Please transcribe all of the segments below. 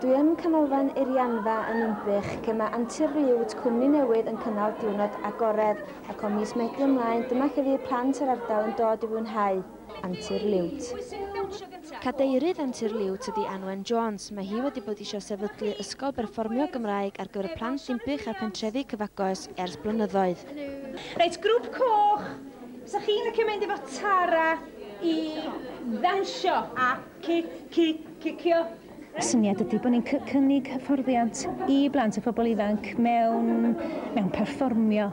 Dwi yn Canolfan Irianfa yn Ninbych, lle mae Antur Liwt cwmni newydd yn cynnal diwrnod agored, ac o mis Medi ymlaen dyma lle fydd plant yr ardal yn dod i fwynhau Antur Liwt. Cadeirydd Antur Liwt ydy Anwen Jones. Mae hi wedi bod eisiau sefydlu ysgol berfformio Gymraeg ar gyfer plant Dinbych a'r pentrefi cyfagos ers blynyddoedd. Reit, grŵp coch, 'sa chi'n licio mynd efo Tara i ddawnsio a cic, cic, cicio? Y syniad ydy bod ni'n cynnig hyfforddiant i blant a phobl ifanc mewn, mewn perfformio,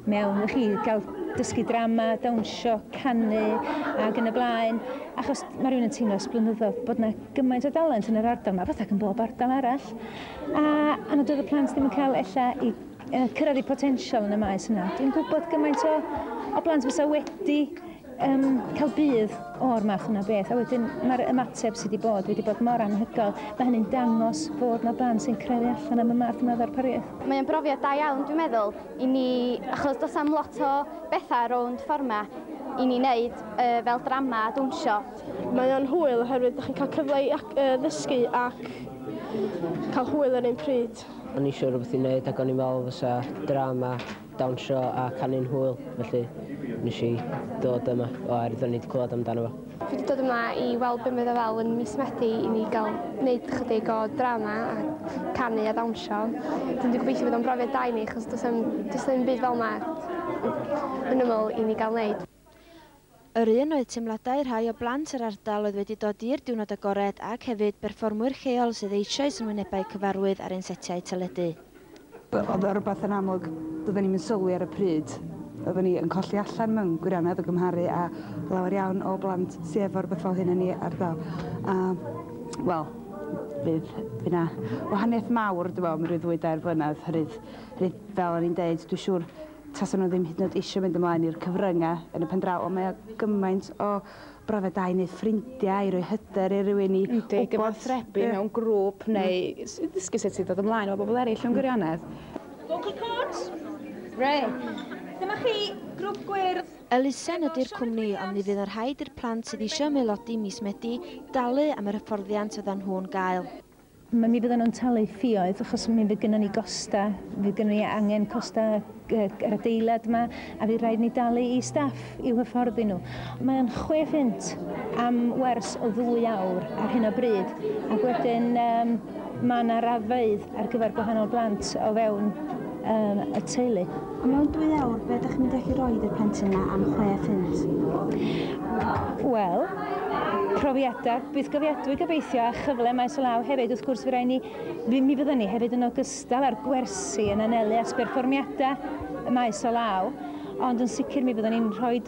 mewn chi, gael dysgu drama, dawnsio, canu ac yn y blaen. Achos mae rhywun yn teimlo ers blynyddoedd bod yna gymaint o dalent yn yr ardal yma, fatha yn bob ardal arall. A nad oedd y plant ddim yn cael ella i cyrraedd eu potensial yn y maes yna. Dwi'n gwybod gymaint o blant fysa wedi cael budd o'r math yna beth, a wedyn mae'r ymateb sydd wedi bod wedi bod mor anhygoel. Mae hynny'n dangos fod 'na blant sy'n crefu allan am y math yma o ddarpariaeth. Mae'n brofiad da iawn, dwi'n meddwl, i ni, achos does am lot o bethau rownd ffordd 'ma i ni wneud fel drama a dawnsio. Mae o'n hwyl oherwydd ydych chi'n cael cyfle i ddysgu ac cael hwyl yr un pryd. O'n i eisiau rhywbeth i wneud ac o'n i'n meddwl fysa drama, dawnsio a canu'n hwyl, felly nes i dod yma oherwydd o'n i wedi clywed amdano fo. Fi wedi dod yma i weld be mae o fel yn mis Medi i ni gael gwneud chydig o drama a canu a dawnsio. Dwi'n wedi gobeithio bydd o'n brofiad da i ni, achos does ddim byd fel yma yn ymyl i ni gael wneud. Yr un oedd teimladau rhai o blant yr ardal oedd wedi dod i'r diwrnod agored ac hefyd berfformwyr lleol sydd eisoes yn wynebau cyfarwydd ar ein setiau teledu. Oedd o rhywbeth yn amlwg doedden ni'm yn sylwi ar y pryd. Oedden ni yn colli allan mewn gwirionedd o gymharu a lawer iawn o blant sy efo rhywbeth fel hyn yn ei ardal. A, wel, fydd yna wahaniaeth mawr, dwi'n meddwl, mewn rhyw 2-3 blynedd. Oherwydd, fel o'n i'n deud, dwi'n siŵr tasen nhw ddim hyd yn oed eisiau mynd ymlaen i'r cyfryngau yn y pen draw, ond mae o gymaint o brofiad da i wneud ffrindiau, i roi hyder i rywun i Yndi, gyfathrebu mewn grŵp neu ddysgu sut i ddod ymlaen efo bobl eraill mewn gwirionedd. Vocal cords? Reit. Dyma chi, grŵp gwyrdd. Elusen ydy'r cwmni, ond mi fydd yn rhaid i'r plant sydd eisiau ymaelodi mis Medi dalu am yr hyfforddiant fyddan nhw'n gael. Mi fyddan nhw'n talu ffioedd, achos mi fydd gynnon ni gostau, fydd gynnon ni angen costau yr adeilad yma, a fydd rhaid ni dalu i staff i'w hyfforddi nhw. Mae'n £6 am wers o 2 awr ar hyn o bryd, ac wedyn mae yna raddfeydd ar gyfer gwahanol blant o fewn y teulu. Mewn 2 awr, be ydych chi'n mynd i allu rhoi i'r plentyn yna am £6? Wel, profiadau bythgofiadwy gobeithio a chyfle maes o law hefyd. Wrth gwrs, mi fyddwn ni hefyd yn ogystal â'r gwersi yn anelu at berfformiadau maes o law, ond yn sicr mi fyddwn ni'n rhoi y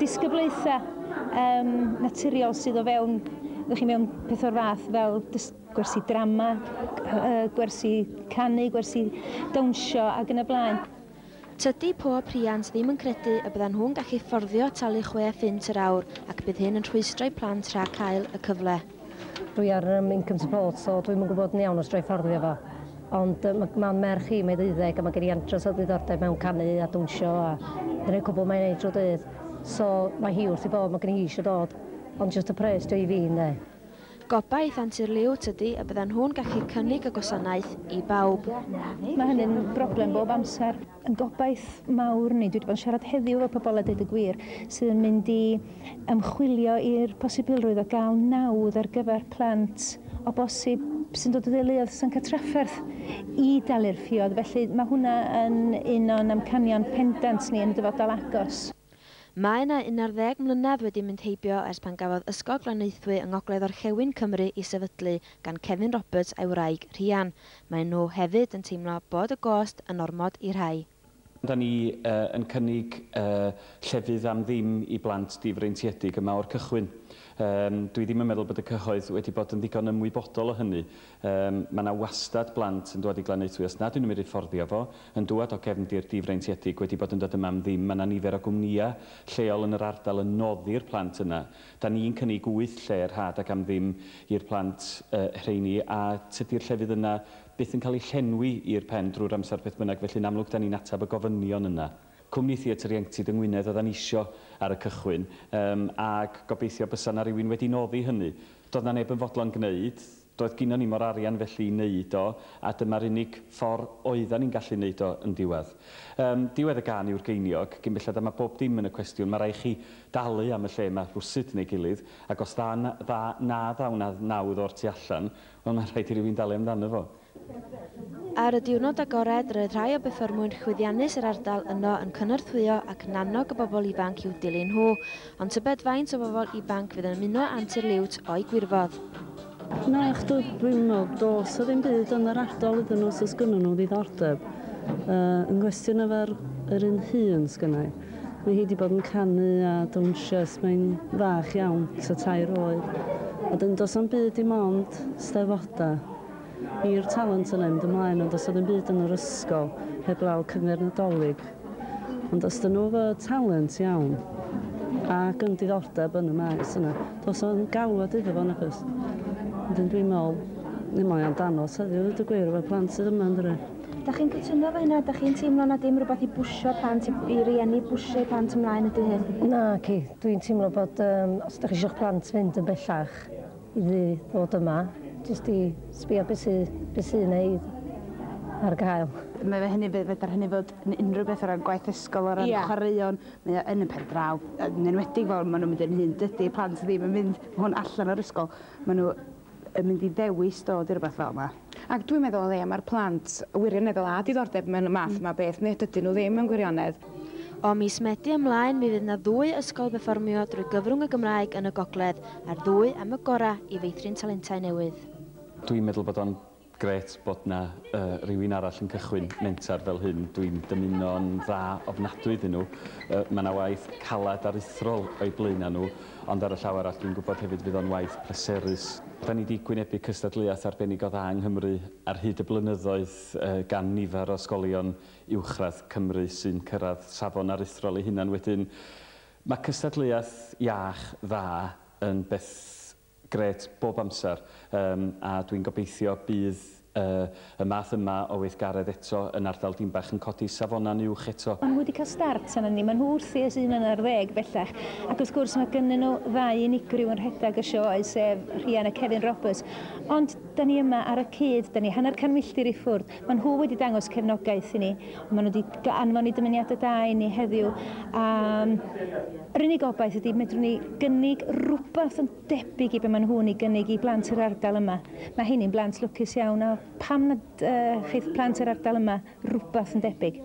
disgyblaethau naturiol sydd o fewn, ydych chi, mewn peth o'r fath fel gwersi drama, gwersi canu, gwersi dawnsio ac yn y blaen. Tydi pob rhiant ddim yn credu y byddan nhw'n gallu fforddio talu £6 yr awr ac bydd hyn yn rhwystro'u plant rhag cael y cyfle. Dwi ar income support, so dwi'm yn gwybod yn iawn os dwi fforddio fo. Ond mae'n merch i, mae 12, a mae gen i andros o ddiddordeb mewn canu a dawnsio a dyna'r cwbl mae'n neud drwy dydd. So mae hi wrth ei bodd, mae gen i hi eisiau dod, ond jyst y pres dwi i fi, ynde. Gobaith Antur Liwt ydy y byddan nhw'n gallu cynnig y gwasanaeth i bawb. Mae hynny'n broblem bob amser. Yn gobaith mawr ni, dwi wedi bod yn siarad heddiw efo pobl a dweud y gwir, sydd yn mynd i ymchwilio i'r posibilrwydd o gael nawdd ar gyfer plant o bosib sy'n dod o deuluoedd sy'n cael trafferth i dalu'r ffioedd. Felly mae hwnna yn un o'n amcanion pendant ni yn y dyfodol agos. Mae yna 11 mlynedd wedi mynd heibio ers pan gafodd Ysgol Glanaethwy yng Ngogledd Orllewin Cymru ei sefydlu gan Kevin Roberts a'i wraig Rhian. Maen nhw hefyd yn teimlo bod y gost yn ormod i rhai. Da ni yn cynnig llefydd am ddim i blant difreintiedig yma o'r cychwyn. Dwi ddim yn meddwl bod y cyhoedd wedi bod yn ddigon ymwybodol o hynny. Mae yna wastad blant yn dod i Glanaethwy, os nad ydyn nhw'n mynd i fforddio fo, yn dŵad o gefndir difreintiedig wedi bod yn dod yma am ddim. Mae yna nifer o gwmnïau lleol yn yr ardal yn noddi'r plant yna. Da ni'n cynnig 8 lle rhad ac am ddim i'r plant rheini, a tydi'r llefydd yna byth yn cael eu llenwi i'r pen drwy'r amser beth bynnag, felly'n amlwg da ni'n ateb y gofynion yna. Cwmni Theatr Ieuenctid yng Ngwynedd oeddan ni isio ar y cychwyn, ac gobeithio bysa na rywun wedi noddi hynny. Doedd na neb yn fodlon gwneud. Doedd gynnon ni mo'r arian felly i wneud o, a dyma'r unig ffordd oeddan ni'n gallu wneud o yn diwedd. Diwedd y gân yw'r geiniog, gyn belled a mae bob dim yn y cwestiwn, mae rhaid chi dalu am y lle yma rhywsut neu gilydd, ac os dda, dda, na ddaw na nawdd o'r tu allan, wel mae'n rhaid i rywun dalu amdano fo. Ar y diwrnod agored, roedd rhai o berfformwyr llwyddiannus yr ardal yno yn cynorthwyo ac yn annog y bobl ifanc i'w dilyn nhw. Ond tybed faint o bobl ifanc fydd yn ymuno â Antur Liwt o'i gwirfodd? Na, chdw, dwi'n meddwl does 'na ddim byd yn yr ardal iddyn nhw os oes gynnon nhw ddiddordeb. Yn gwestiwn efo'r yr un hun sgynna i. Mae hi wedi bod yn canu a dawnsio ers mae'n fach iawn, tua 3 oed. A dyn does 'na'm byd dim ond steddfodau i'r talent yna mynd ymlaen, ond does 'na ddim byd yn yr ysgol heblaw cyngerdd Nadolig. Ond os dyn nhw efo talent iawn ac yn diddordeb yn y maes yna, does 'na'm galwad iddo fo nag oes. Wedyn dwi'n meddwl, ddim mae o'n danos heddiw, dweud y gwir, efo plant sydd yma, yn dydi? Da chi'n cytuno efo hynna? Da chi'n teimlo na dim rhywbeth i bwsio plant, i rieni bwsio eu plant ymlaen ydy hyn? Na, ci. Dwi'n teimlo bod os ydych chi eisiau'ch plant fynd yn bellach i ddod yma, jyst i sbio beth sy'n neud ar gael. Mae fe hynny, fedar hynny fod yn unrhyw beth o ran gwaith ysgol, o ran chwaraeon, mae o yn y pen draw, yn enwedig fel maen nhw'n mynd yn hŷn, dydy plant ddim yn mynd hwn allan o'r ysgol, maen nhw yn mynd i ddewis dod i rywbeth fel yma. Ac dwi'n meddwl o leia mae'r plant wirioneddol â diddordeb mewn y math yma beth, neu dydyn nhw ddim mewn gwirionedd. O mis Medi ymlaen, mi fydd yna ddwy ysgol berfformio drwy gyfrwng y Gymraeg yn y Gogledd, a'r ddwy am y gorau i feithrin talentau newydd. Dwi'n meddwl bod o'n grêt bod na rhywun arall yn cychwyn mentar fel hyn. Dwi'n dymuno'n dda ofnadwy iddyn nhw. Mae yna waith calad aruthrol o'i blaenau nhw, ond ar y llaw arall dwi'n gwybod hefyd fydd o'n waith pleserus. Da ni wedi gwynebu cystadleuaeth arbennig o dda yng Nghymru ar hyd y blynyddoedd gan nifer o ysgolion uwchradd Cymru sy'n cyrraedd safon aruthrol eu hunan. Wedyn, mae cystadleuaeth iach dda yn beth grêt bob amser, a dwi'n gobeithio bydd y math yma o weithgaredd eto yn ardal Dinbach yn codi safonau'n uwch eto. Maen nhw wedi cael start arnon ni, maen nhw wrthi ers 11 bellach, ac wrth gwrs mae gynnyn nhw ddau unigryw yn rhedeg y sioe, sef Rhian a Kevin Roberts. Ond da ni yma ar y cyd, da ni 50 milltir i ffwrdd. Maen nhw wedi dangos cefnogaeth i ni, maen nhw wedi anfon i dymuniadau da i ni heddiw. Yr unig obaith ydy medrwn ni gynnig rhywbeth yn debyg i be maen nhw'n ei gynnig i blant yr ardal yma. Mae hynny'n blant lwcus iawn, a pam nad cheith plant yr ardal yma rhywbeth yn debyg.